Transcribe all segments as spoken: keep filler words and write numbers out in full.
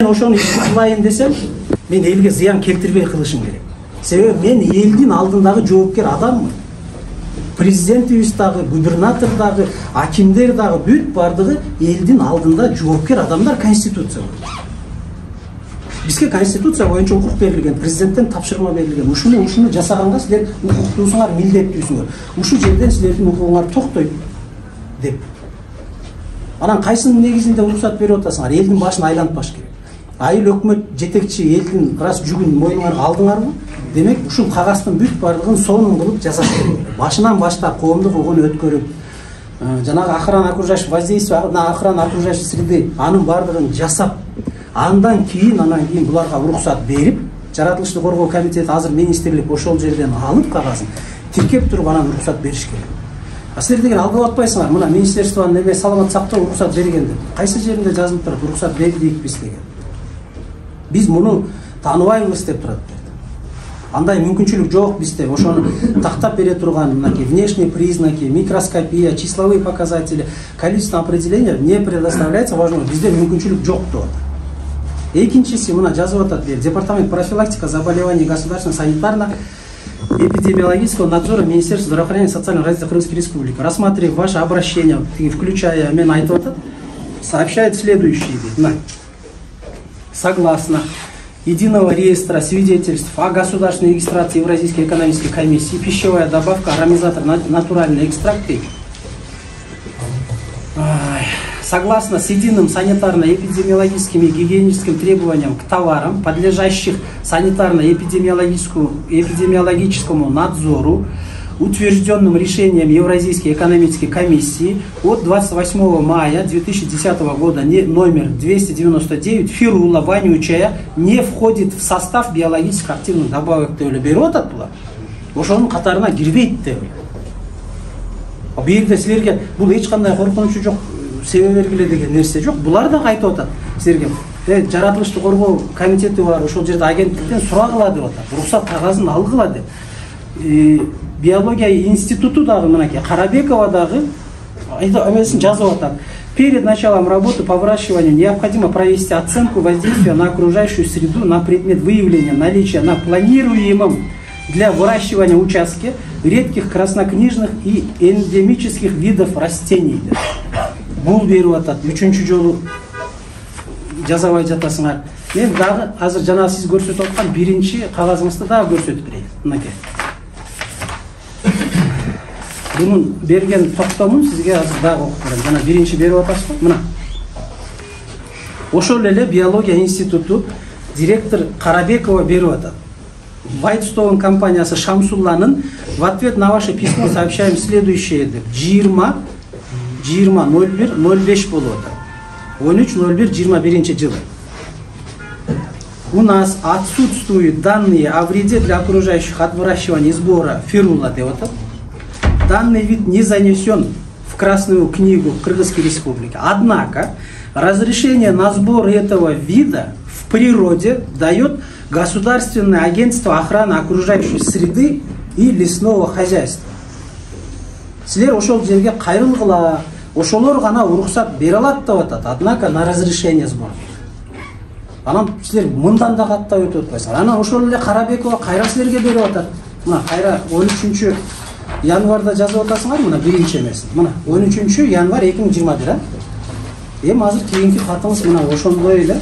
ошону кылайын десем, мен элге зыян келтирбей кылышым керек. Себеби мен элдин алдындагы жоопкер адаммын. Президентибиз дагы, губернатор дагы, акимдер дагы бүт бардыгы элдин алдында жоопкер адамдар. Конституция бар. Бизге конституция боюнча укук берилген, президенттен тапшырма берилген. Ушуну ушуну жасаганга силер укуктуусуңар, милдеттүүсүңөр. Ушул жерден силердин укугуңар токтойт деп. Анан кайсынын негизинде уруксат берип атасыңар? Элдин башын айлантпаш керек. Айыл өкмөт жетекчи элдин раз жүгүн мойнуңарга алдыңарбы? Демек, ушул кагаздын бүт бардыгын сонун кылып жасаш керек. Башынан баштап коомдук угун өткөрүп, жанагы охрана окружающего воздействия, охрана окружающей среды анын бардыгын жасап, андан кийин анан кийин буларга уруксат берип, жаратылышты коргоо комитети азыр министрлик ошол жерден алып кагазын тиркеп туруп анан уруксат бериш керек. А силер деген алгып атпайсыңар, мына министерствонун эме саламат сактоо уруксат берген деп. Кайсы жеринде жазылып турат уруксат бердик биз деген. Биз муну тааныбайбыз деп турат. Андай мүмкүнчүлүк жок бизде. Ошону тактап бере турган мынакей внешние признаки, микроскопия, числовые показатели, количественное определение не предоставляется важного. Бизде мүмкүнчүлүк жок деп атат. Экинчиси мына жазып атат, департамент профилактика заболеваний государственного санитарно-эпидемиологического надзора Министерства здравоохранения и социального развития Крымской Республики, рассматривая ваше обращение, включая мен айтып атат, сообщает следующее. Согласно Единого реестра свидетельств о государственной регистрации Евразийской экономической комиссии, пищевая добавка ароматизатор натуральный экстракт. Согласно с единым санитарно-эпидемиологическим и гигиеническим требованиям к товарам, подлежащих санитарно-эпидемиологическому эпидемиологическому надзору, утвержденным решением Евразийской экономической комиссии от двадцать восьмого мая две тысячи десятого года номер двести девяносто девять, фирула вонючая не входит в состав биологически активных добавок деп берип атат булар. Ошонун катарына кирбейт деп. Бул жерде силерге бул эч кандай коркунучу жок, себеп бергиле деген нерсе жок. Булар да айтып атат силерге. Э, жаратылышты коргоо комитети бар, ошол жерде агенттиктен сурагыла деп атат. Уруксат кагазын алгыла деп. Биология институту дагы мынакей Карабекова дагы эмесин жазып атат. Перед началом работы по выращиванию необходимо провести оценку воздействия на окружающую среду на предмет выявления наличия на планируемом для выращивания участке редких краснокнижных и эндемических видов растений. Бул берип атат. Үчүнчү жолу жазабай жатасыңар. Мен дагы азыр жана сиз көрсөтүп аткан биринчи кагазыңызды дагы көрсөтүп берейин. Мынакей. Bunun берген токтомун сизге азыр дагы окуп берем. Жана биринчи берип атасызбы? Мына. Ошол эле биология институту директор Карабекова берип атат. Whitestone компаниясы Шамсулланын в ответ на ваше письмо сообщаем следующее деп. жыйырма жыйырма ноль бир ноль беш болуп атат. он үч ноль бир жыйырма биринчи жылы. У нас отсутствуют данные о вреде для окружающих от выращивания и сбора фирула деп атат. Данный вид не занесен в Красную книгу Кыргызской Республики. Однако разрешение на сбор этого вида в природе дает Государственное агентство охраны окружающей среды и лесного хозяйства. Силер ошол жерге кайрылгыла, ошолор гана уруксат бере алат деп атат. Однако на разрешение сбора. Анан силер мындан да каттап өтүп атпайсыңар. Анан ошол эле Карабекова кайра силерге берип атат. Мына кайра он үчүнчү январда жазып атасыңар, мына биринчи эмесин. Мына он үчүнчү январ эки миң жыйырма бир, а? Эми азыр кийинки катыңыз мына ошондой эле.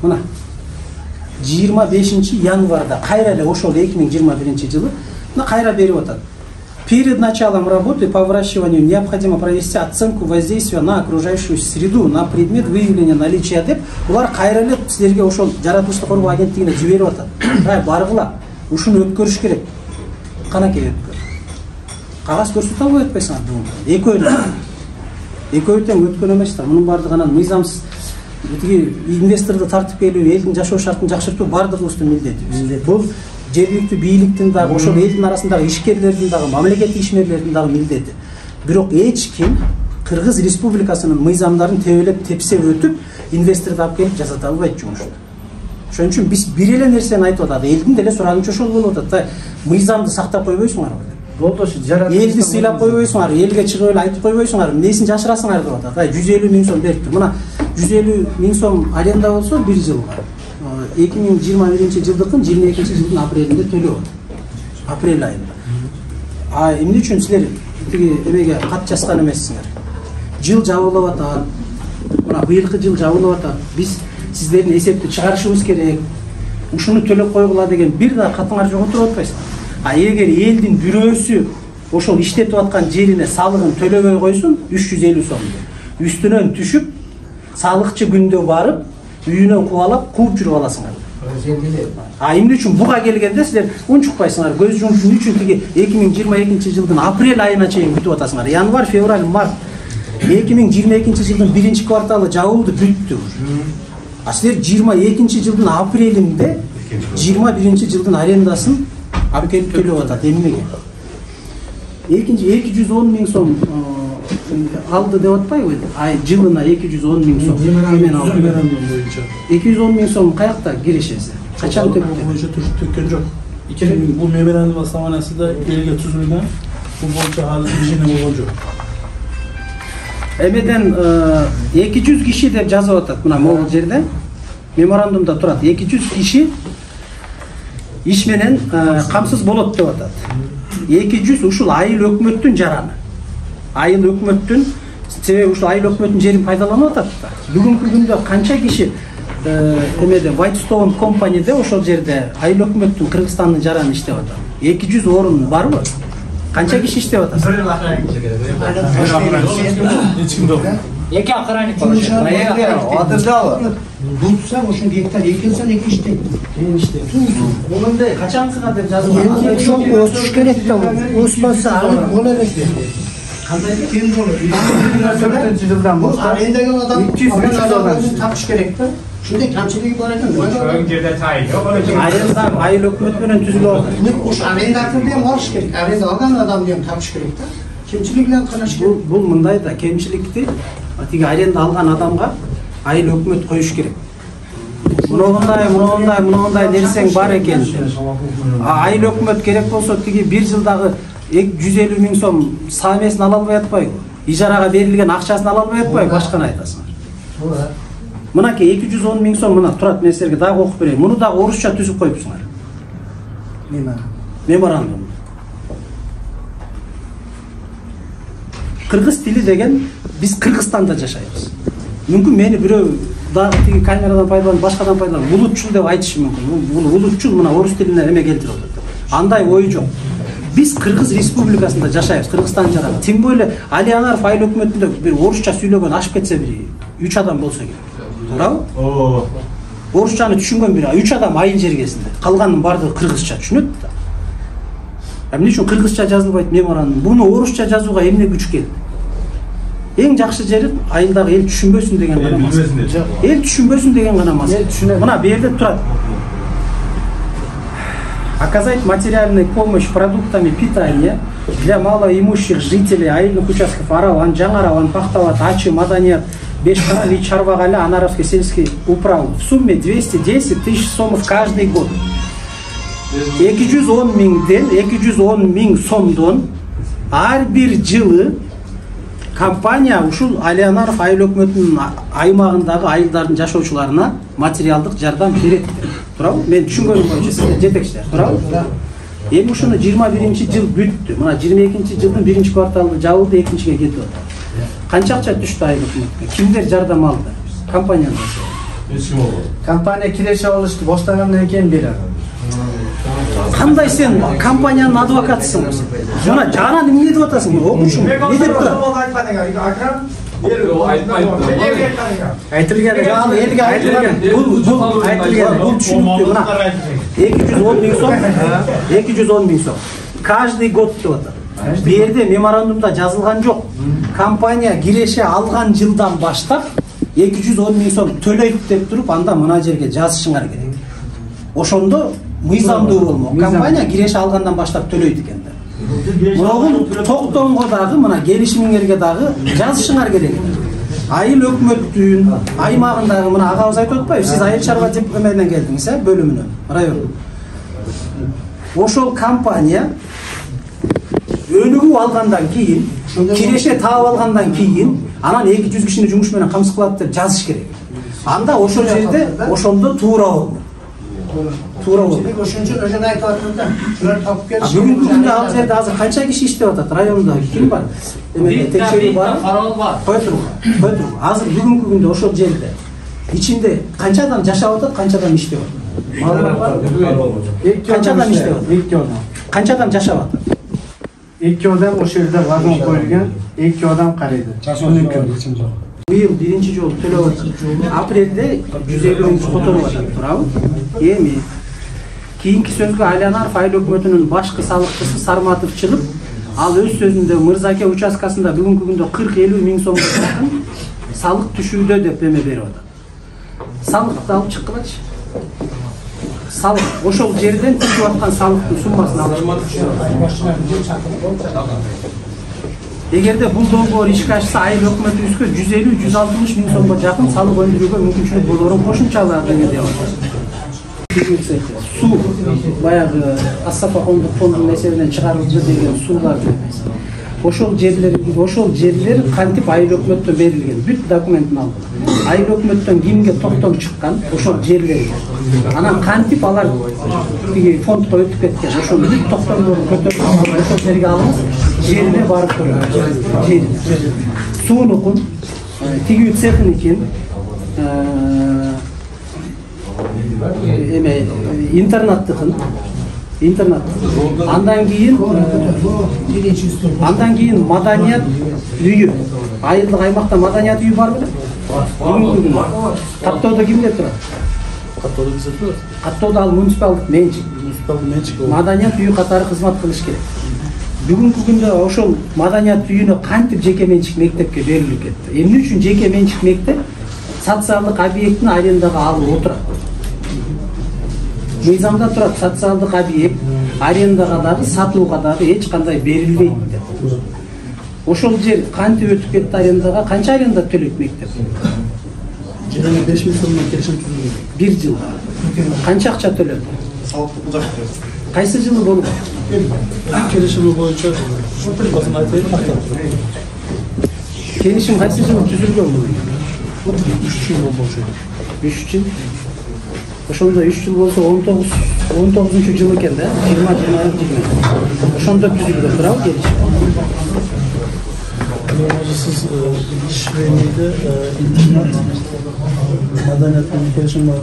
Мына жыйырма бешинчи январда кайра эле ошол эки миң жыйырма биринчи жылы мына кайра берип атат. Перед началом работы по выращиванию необходимо провести оценку воздействия на окружающую среду на предмет выявления наличия деп. Булар кайра эле силерге ошол жаратылышты коргоо агенттигине жиберип атат. Ай баргыла, ушуну өткөрүш керек. Канакей өткөр. Кагаз көрсөтө албай атпайсыңар бүгүн. Экөө. Экөө тең өткөн эместир. Мунун бардыгынан мыйзамсыз тиги инвесторду тартып келүү, элдин жашоо шартын жакшыртуу бардыгыбыздын милдетибиз. Бул жергиликтүү бийликтин дагы, ошол элдин арасындагы ишкерлердин дагы, мамлекеттик ишмерлердин дагы милдети. Бирок эч ким Кыргыз Республикасынын мыйзамдарын тебелеп тепсеп өтүп, инвесторду алып келип жасата албайт жумушту. Ошон үчүн биз бир эле нерсени айтып атат. Элдин деле сурагынча ошол болуп атат. Мыйзамды сактап койбойсуңарбы? болду ошо жаратып элди сыйлап койбойсуңар, элге чыгып эле айтып койбойсуңар, эмнесин жашырасыңар деп атат. Ай жүз элүү миң сом бериптир. Мына жүз элүү миң сом аренда болсо бир жылга эки миң жыйырма биринчи жылдыкын жыйырма экинчи жылдын апрелинде төлөп атат. Апрель айында. А эмне үчүн силер тиги эмеге кат жазган эмессиңер? Жыл жабылып атат. Мына быйылкы жыл жабылып атат. Биз сиздердин эсепти чыгарышыбыз керек. Ушуну төлөп койгула деген бир да катыңар жок отуруп атпайсыңар. А эгер элдин бирөөсү ошол иштетип аткан жерине салыгын төлөбөй койсун, үч жүз элүү сом. Үстүнөн түшүп, салыкчы күндө барып, үйүнө кубалап, кууп жүрүп аласыңар. А эмне үчүн буга келгенде силер унчукпайсыңар? Көз жумуш үчүн тиги эки миң жыйырма экинчи жылдын апрель айына чейин күтүп атасыңар. Январь, февраль, март эки миң жыйырма экинчи жылдын биринчи кварталы жабылды, бүттү. А силер жыйырма экинчи жылдын апрелинде жыйырма биринчи жылдын арендасын алып келип төлөп атат. Эмнеге? Экинчи эки жүз он миң сом алды деп атпайбы? Ай жылына эки жүз он миң сом. Меморандум боюнча. эки жүз он миң сом каякта кирешеси? Качан төктү? Боюнча төккөн жок. Бул меморандум основаниясында элге түзүлгөн. Бул боюнча азыр ишене болгон жок. Эмеден эки жүз киши деп жазып атат. Мына могул жерде меморандумда турат. эки жүз киши иш менен камсыз болот деп атат. эки жүз ушул айыл өкмөттүн жараны. Айыл өкмөттүн, себеби ушул айыл өкмөттүн жерин пайдаланып атат да. Бүгүнкү күндө канча киши эмеде Whitestone компанияда ошол жерде айыл өкмөттүн Кыргызстандын жараны иштеп атат. эки жүз орун барбы? Канча киши иштеп атат? Эч ким жок. Эки охранник. Адырдабы? Булсаң ошон гектар экилсен эки иштейт. Мен иштейм. Омундай качансыга деп жазылган. Ошол өсүш керек да. Өспөсө боло элек. Кандай кем болот? төртүнчү жылдан баштап Арендеген адам өзүн тапыш керек да. Ушундай камчылыгы бар экен. Ошол жерде тай жок. Айылда айыл өкмөт менен түзүлүп атат. Уш арендатор деген алыш керек. Аренда алган адам деген тапыш керек да. Кемчиликлерин караш керек. Бул бул мындай да кемчиликти тиги аренда алган адамга айыл өкмөт коюш керек. Мындай, мындай, мындай нерсең бар экен. Айыл өкмөт керек болсо тиги бир жылдагы жүз элүү миң сом самесин ала албай атпайбы? Ижарага берилген акчасын ала албай атпайбы? Башканы айтасыңар. Мынакей эки жүз он миң сом мына турат, мен силерге дагы окуп берейин. Муну дагы орусча түзүп коюпсуңар. Меморандум. Кыргыз тили деген биз Кыргызстанда жашайбыз. Мүмкүн мени бирөө дагы тиги камерадан пайдаланып, башкадан пайдаланып улутчул деп айтышы мүмкүн. Бул улутчул мына орус тилине эме келтирип атат. Андай ой жок. Биз Кыргыз Республикасында жашайбыз, Кыргызстан жараны. Тим более Алиянаров айыл өкмөтүндө бир орусча сүйлөгөн ашып кетсе бир үч адам болсо керек. Туурабы? Оо. Орусчаны түшүнгөн бир үч адам айыл жергесинде. Калганын баардыгы кыргызча түшүнөт да. Эмне үчүн кыргызча жазылбайт меморандум? Буну орусча жазууга эмне күч келди? Эң жакшы жери айылдагы эл түшүнбөсүн деген гана маса. Эл түшүнбөсүн деген гана маса. Мына бу жерде турат. Оказать материальную помощь продуктами питания для малоимущих жителей айылдык участков Араван, Жаңараван, Пахтават, Ачы, Маданият, Бешкарали и Чарвагаля, Анаровский сельский управ в сумме двести десять тысяч сомов каждый год. эки жүз он миңден эки жүз он миң сомдон ар бир жылы компания ушул Алиянаров айыл өкмөтүнүн аймагындагы айылдардын жашоочуларына материалдык жардам берет. Туурабы? Мен түшүнгөнүм боюнча сиздер жетекчилер, туурабы? Эми ушуну жыйырма биринчи жыл бүттү. Мына жыйырма экинчи жылдын биринчи кварталы жабылды, экинчиге кетип атат. Канча акча түштү айыл өкмөткө? Кимдер жардам алды? Компаниядан. Эч ким болбоду. компания киреше алышты, баштагандан кийин берет. Кандай сен компаниянын адвокатысың? Жана жана эмне деп атасың? Окушуң. Не деп турат? Айтылган, жана элге айтылган. Бул бул айтылган, бул түшүнүктүү. Мына эки жүз он миң сом, эки жүз он миң сом. Каждый год деп атат. Бу жерде меморандумда жазылган жок. Компания киреше алган жылдан баштап эки жүз он миң сом төлөйт деп туруп, анда мына жерге жазышыңар керек. Ошондо мыйзамдуу болмок. Компания киреше алгандан баштап төлөйт экен да. Мынау токтомго дагы, мына келишимиңерге дагы жазышыңар керек. Айыл өкмөттүн аймагындагы, мына агабыз айтып атпайбы, сиз айыл чарба деп эменен келдиңиз, э, бөлүмүнөн, район. Ошол компания өнүгүп алгандан кийин, киреше таап алгандан кийин, анан эки жүз кишини жумуш менен камсыз кылат деп жазыш керек. Анда ошол жерде ошондо туура болду. Туура болду. Ошончо өзүн айтып атат да. Шулар тапып келиши. Бүгүнкү күндө ал жерде азыр канча киши иштеп атат? Районда ким бар? Эмеде текшерүү бар. Кой туруп, кой туруп. Азыр бүгүнкү күндө ошол жерде ичинде канча адам жашап атат, канча адам иштеп атат? Маалымат бар? Канча адам иштеп атат? эки адам. Канча адам жашап атат? эки адам ошол жерде вагон коюлган, эки адам карайды. Быйыл биринчи жолу төлөп атат. Апрелде жүз элүү миң которуп атат, туурабы? Эми кийинки сөзгө Айланаров айыл өкмөтүнүн башкы салыктчысы Сарматов чыгып, ал өз сөзүндө Мырзаке участкасында бүгүнкү күндө кырк элүү миң сомго жакын салык түшүүдө деп эме берип атат. Салыкты алып чыккылачы. Салык ошол жерден түшүп аткан салыктын суммасын алып. Эгерде бул долбоор ишке ашса, айыл өкмөтүбүзгө жүз элүү жүз алтымыш миң сомго жакын салык өндүрүүгө мүмкүнчүлүк болорун кошумчалап деп атат. Суу баягы Ассапа коомдук фондунун эсебинен чыгарылды деген суулар эмес. Ошол жерлер, ошол жерлер кантип айыл өкмөттөн берилген, бүт документин алдым. Айыл өкмөттөн кимге токтом чыккан, ошол жерлер. Анан кантип алар тиги фондко өтүп кеткен, ошол бүт токтомдорун көтөрүп ошол жерге алып, жерине барып көрөт. Жер. Суунукун, тигүү цехникин, эме интернаттыкын, интернат. Андан кийин андан кийин маданият үйү. Айылдык аймакта маданият үйү бар беле? Каттоодо кимдер турат? Каттоодо кимдер турат? Каттоодо ал муниципалдык менчик. Муниципалдык менчик. Маданият үйү катары кызмат кылыш керек. Бүгүнкү күндө ошол маданият үйүнө кантип жеке менчик мектепке берилип кетти? Эмне үчүн жеке менчик мектеп социалдык объекттин арендага алып отурат? Мыйзамда турат, социалдык объект арендага дагы, сатууга дагы эч кандай берилбейт деп. Ошол жер кантип өтүп кетти арендага? Канча аренда төлөйт мектеп? Жылына беш миң сомдон келишим түзүлгөн. Бир жыл. Канча акча төлөдү? Кайсы жылы болуп? Келишими боюнча басын айтайын. Келишим кайсы жылы түзүлгөн бул? үч жыл болчу. үч жыл. Ошондо үч жыл болсо он тогуз он тогузунчу жыл экен да, жыйырма жыйырма жыйырма. Ошондо түзүлгөн, туурабы келишим? Siz Şiveni'de internet madaniyetinin gelişim var.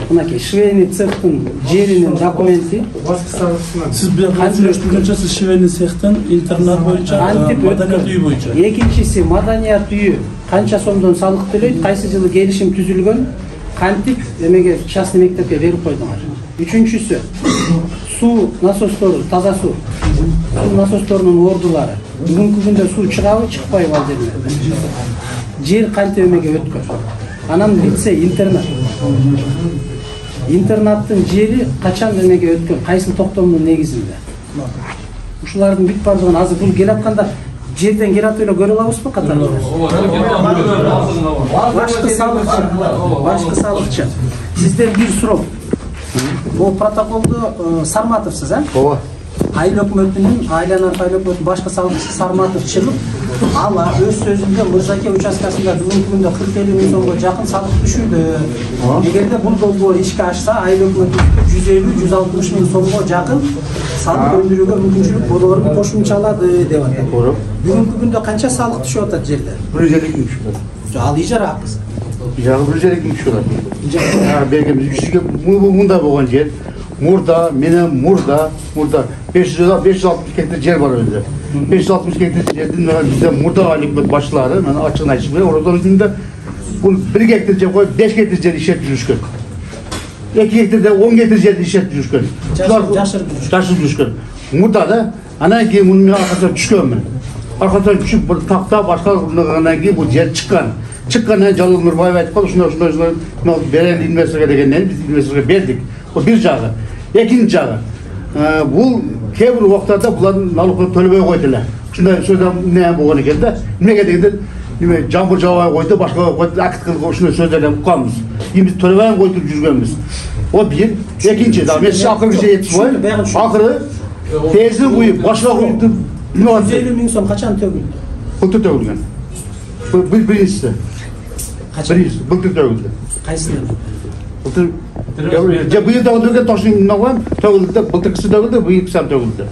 Мынакей Швейни цехтин жеринин документи. Siz bir hazırlaştırınca siz Şiveni цехтен интернет боюнча, маданият үйү боюнча. Экинчиси маданият үйү канча сомдон салык төлөйт, кайсы жылы келишим түзүлгөн, кантип эмеге частный мектепке берип койдуңар. Үчүнчүсү суу насостору, таза суу. Суу насосторунун ордулары. Бүгүнкү күндө суу чыгабы, чыкпайбы ал жерлерде? Жер кантип эмеге өткөн? Анан лицей, интернат. Интернаттын жери качан эмеге өткөн? Кайсы токтомдун негизинде? Ушулардын бүт бардыгын азыр бул келатканда жерден келатып эле көрө алабызбы катары? Башкы салыкчы, башкы салыкчы. Сизден бир суроо. Бул протоколду Сарматовсуз, э? Ооба. Айыл өкмөтүнүн, Айланаров айыл өкмөтүнүн башкы салыкчысы Сарматов чыгып, ал өз сөзүндө Мырзаке участкасында бүгүнкү күндө кырк элүү миң сомго жакын салык түшүүдө. Эгерде бул долбоор ишке ашса, айыл өкмөтү жүз элүү жүз алтымыш миң сомго жакын салык өндүрүүгө мүмкүнчүлүк болорун кошумчалады деп атат. Бүгүнкү күндө канча салык түшүп атат жерде? бир жүз элүү миң түшүп атат. Ал ижара акысы. Ижара бир жүз элүү миң түшүп атат. Бергенбиз үч жүзгө мында болгон жер. Мурда, менен мурда, мурда беш жүз алтымыш гектар жер бар өзү. беш жүз алтымыш гектар жердин бизде мурда айыл башчылары, мен ачыгын айтышым керек, ордон үстүндө бул бир гектар жер коюп беш гектар жер иштетип жүрүшкөн. эки гектарда он гектар жерди иштетип жүрүшкөн. Жашырып жашырып жүрүшкөн. Мурда да анан кийин мунун аркасынан түшкөнмүн. Аркасынан түшүп бир такта башкаргандан кийин бул жер чыккан. Чыккандан Жалал Нурбаев айтып калды, ушундай ушундай ушундай берен инвесторго дегенден биз инвесторго бердик. Бул бир жагы. Экинчи жагы, бул кээ бир убактарда булардын налогун төлөбөй койду эле. Ушундай сөздөр эмне болгон экен да. Эмнеге дегенде, эме жамбыр жаабай койду, башка койду, акт кылып ушундай сөздөрдөн укканбыз. Эми биз төлөбөй койтуп жүргөнбүз. О бир, экинчи, да мен акыркы жетип коеюн. Акыры Tezi uyup, başka uyup, ne var? жүз элүү миң сом качан төгүлдü? Былтыр төгүлгөн. Бул биринчиси. Качан? Биринчиси, былтыр төгүлдü. Кайсында? Былтыр же быйыл төгүлгөн тошун ногон төгүлдü, былтыркысы төгүлдü, быйылкысы ham төгүлдü.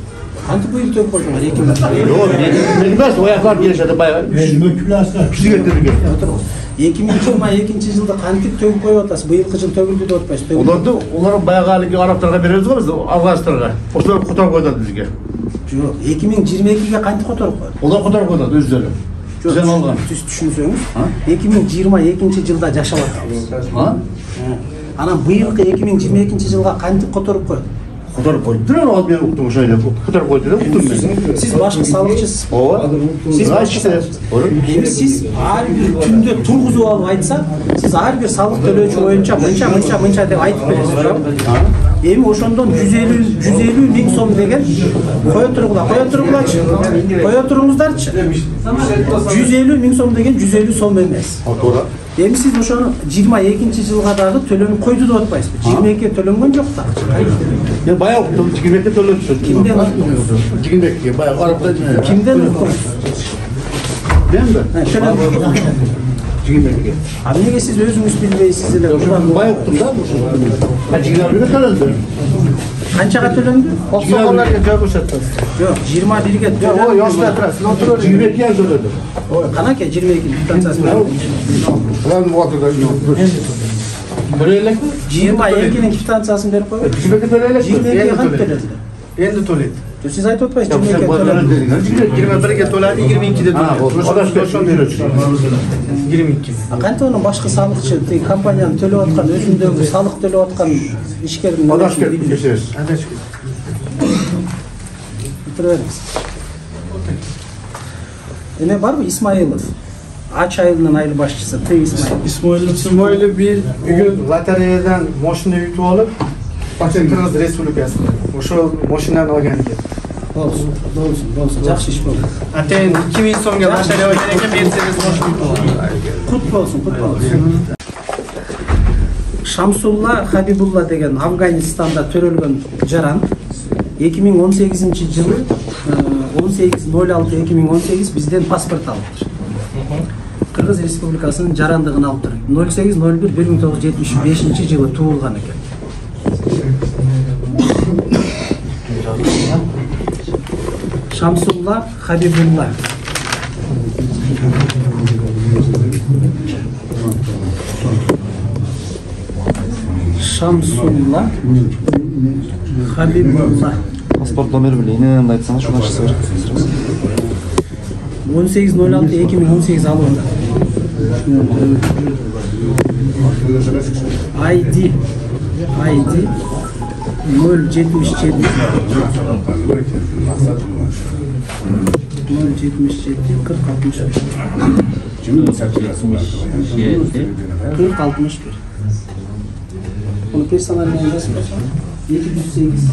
Кантип быйыл төгүп койдуңар эки миң? Жок, мен эмес, ояклар келишет, баягы. Киши кетирген. эки миң жыйырма экинчи жылда кантип төгүп коюп атасыз? Быйылкы жыл төгүлдү деп атпайсыз? Оларды, олар баягы алыгы арабтарга беребиз го биз, афганстарга. Ошолор которуп коюп атат бизге. Жок, эки миң жыйырма экиге кантип которуп койду? Олар которуп коюп атат өздөрү. Бизден алган. Сиз түшүнсөңүз, эки миң жыйырма экинчи жылда жашап атабыз. А? Анан быйылкы эки миң жыйырма экинчи жылга кантип которуп койду? Которуп коюптур, ал мен уктум ошо эле. Которуп коюптур деп уктум мен. Сиз башкы салыкчысыз. Ооба. Сиз башкы салыкчысыз. Эми сиз ар бир күндө тургузуп алып айтса, сиз ар бир салык төлөөчү боюнча мынча мынча мынча деп айтып бересиз, жок? Эми ошондон жүз элүү жүз элүү миң сом деген кое тургула, кое тургулачы. Кое туруңуздарчы. жүз элүү миң сом деген жүз элүү сом эмес. Туура. Эми сиз ошону жыйырма экинчи жылга дагы төлөнүп койду деп атпайсызбы? жыйырма экиге төлөнгөн жок да. Мен баягы уктум, жигирмекке төлөдү. Кимден уктуңуз? Жигирмекке, баягы арабтан. Кимден уктуңуз? Мен да. Төлөнүп. Жигирмекке. А эмнеге сиз өзүңүз билбейсиз эле? Баягы уктум да. А жигирмекке төлөдү. Канчага төлөндү? Оксогондорго жабыш атасыз. Жок, жыйырма бирге төлөндү. Ой, осуда турасыз. Отуруп. Жигирмекке ham төлөдү. Канаке жыйырма эки квитанциясы менен. Булардын убактыда Бир элек жыйырма экинин квитанциясын берип койбойбу? жигирмекке төлөйлүк. жыйырма экиге кантип төлөдүлөр? Энди төлөйт. Сиз айтып атпайсызбы жыйырма экиге төлөдү? жыйырма бирге төлөдү, жыйырма экиде төлөдү. Адаш ошон төлөчү. жыйырма эки. А кантип анын башкы салыкчы, тиги компаниянын төлөп аткан, өзүндөгү салык төлөп аткан ишкердин Адаш кетип кечиресиз. Адаш. Тура бериңиз. Эме барбы Исмаилов? Ач айылынын айыл башчысы Т. Исмаилов. Исмоилов Исмоилов бир бүгүн лотереядан машина ütүп алып, Кыргыз Республикасына. Ошол машинаны алган экен. Болсун, болсун, болсун. Жакшы иш болду. Атен эки миң сомго машина алган экен, Мерседес машина ütүп алган. Кут болсун, кут болсун. Шамсулла Хабибулла деген Афганистанда төрөлгөн жаран эки миң он сегизинчи жылы он сегиз ноль алты эки миң он сегиз бизден паспорт алыптыр. Кыргыз Республикасынын жарандыгын алыптыр. ноль сегиз ноль бир бир миң тогуз жүз жетимиш бешинчи жылы туулган экен. Шамсулла Хабибулла. Шамсулла Хабибулла. Паспорт номер билейин, айтсаңыз шуну ачса берет. он сегиз ноль алты эки миң он сегиз алып атат. ай ди ай ди ноль жетимиш жети ноль жетимиш жети кырк алтымыш бир кырк алтымыш бир. Bunu персональный yazıp эки жүз сегиз.